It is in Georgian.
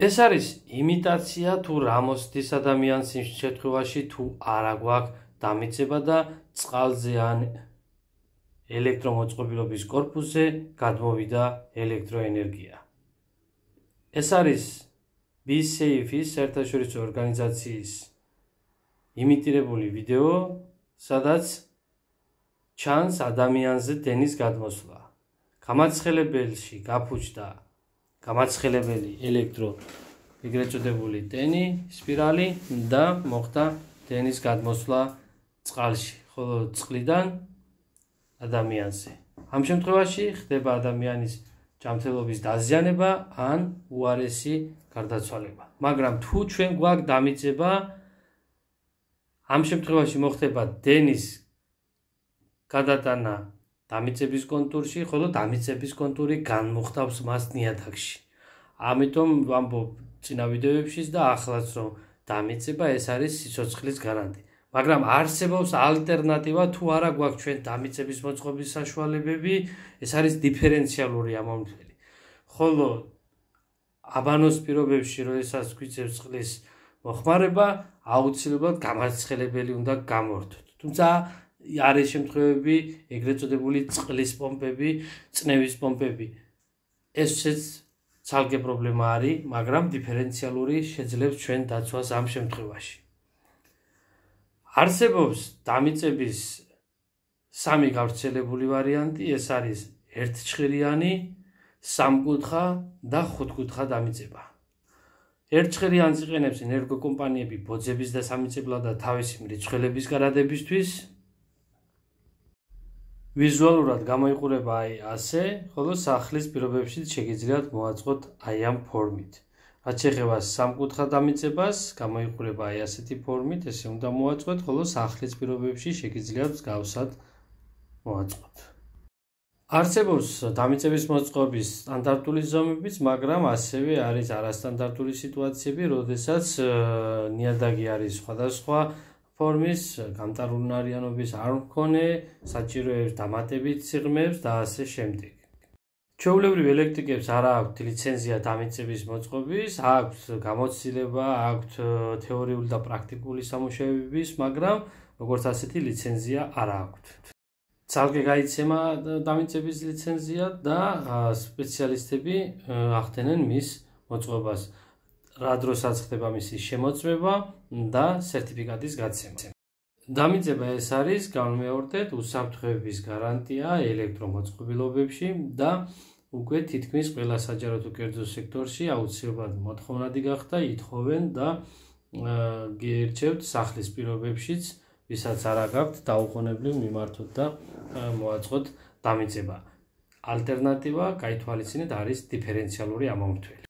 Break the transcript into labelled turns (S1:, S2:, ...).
S1: ეს არის იმიტაცია თუ რა მოსდის ადამიანს იმ შემთხვევაში თუ არა გვაქვს დამიწება და წყალზე ან ელექტრომოწყობილობის კორპუსზე გადმოვიდა ელექტროენერგია. ეს არის BeSafe-ის საერთაშორისო ორგანიზაციის იმიტირებული ვიდეო, სადაც ჩანს ადამიანზე დენის გადმოსვლა. გამაცხელებელში გაფუჭდა გამაცხელებელი ეგრეთ წოდებული დენი, სპირალი და მოხდა დენის გადმოსვლა წყალში, ხოლო წყლიდან ადამიანზე. ამ შემთხვევაში ხდება ადამიანის ჯანმრთელობის დაზიანება ან უარესი გარდაცვალება. მაგრამ თუ ჩვენ გვაქვს დამიწება, ამ შემთხვევაში მოხდება დენის გადატანა დამიწების კონტურში, ხოლო დამიწების კონტური განმოხტავს მას ნიადაგში. ამიტომ ვამბობ წინა ვიდეოებშიც და ახლაც რომ დამიწება ეს არის სიცოცხლის გარანტი. მაგრამ არსებობს ალტერნატივა თუ არა გვაქვს ჩვენ დამიწების მოწყობის საშუალებები, ეს არის დიფერენციალური ამომრთელი. ხოლო აბანოს პირობებში, როდესაც გვიწევს წყლის მოხმარება, აუცილებლად გამაცხელებელი უნდა გამორთოთ. თუმცა არის შემთხვევები, ეგრეთ წოდებული წყლის პომპები, წნევის პომპები. ესეც ცალკე პრობლემა არის, მაგრამ დიფერენციალური შეძლებს ჩვენ დაცვას ამ შემთხვევაში. არსებობს დამიწების სამი გავრცელებული ვარიანტი, ეს არის ერთჩხირიანი, სამკუთხა და ხუთკუთხა დამიწება. ერთჩხირიანს იყენებს ენერგოკომპანიები ბოძების დასამიწებლად და თავისი მრიცხველების გარადებისთვის. ვიზუალურად გამოიყურება ასე, ხოლო სახლის პირობებშიც შეგიძლიათ მოაწყოთ ამ ფორმით. რაც შეეხება სამკუთხა დამიწებას, გამოიყურება ასეთი ფორმით, ესე უნდა მოაწყოთ, ხოლო სახლის პირობებში შეგიძლიათ მსგავსად მოაწყოთ. არსებობს დამიწების მოწყობის სტანდარტული ზომებიც, მაგრამ ასევე არის არასტანდარტული სიტუაციები, როდესაც ნიადაგი არის სხვადასხვა ფორმის, გამტარუნარიანობის არ მქონე, საჭიროებს დამატებით სიღრმეებს და ასე შემდეგ. ჩვეულებრივ ელექტრიკებს არ აქვთ ლიცენზია დამიწების მოწყობის, აქვთ გამოცდილება, აქვთ თეორიული და პრაქტიკული სამუშაოების, მაგრამ როგორც ასეთი ლიცენზია არ აქვთ. ცალკე გაიცემა დამიწების ლიცენზია და სპეციალისტები ახდენენ მის მოწყობას. რა დროსაც ხდება მისი შემოწმება და სერტიფიკატის გაცემა. დამიწება ეს არის, განვმეორდეთ, უსაფრთხოების გარანტია ელექტრომოწყობილობებში და უკვე თითქმის ყველა საჯარო თუ კერძო სექტორში აუცილებლად მოთხოვნადი გახდა, ითხოვენ და გიერჩევთ სახლის პირობებშიც, ვისაც არ აქვთ, დაუყოვნებლივ მიმართოთ და მოაწყოთ დამიწება. ალტერნატივა გაითვალისწინეთ არის დიფერენციალური ამომრთველი.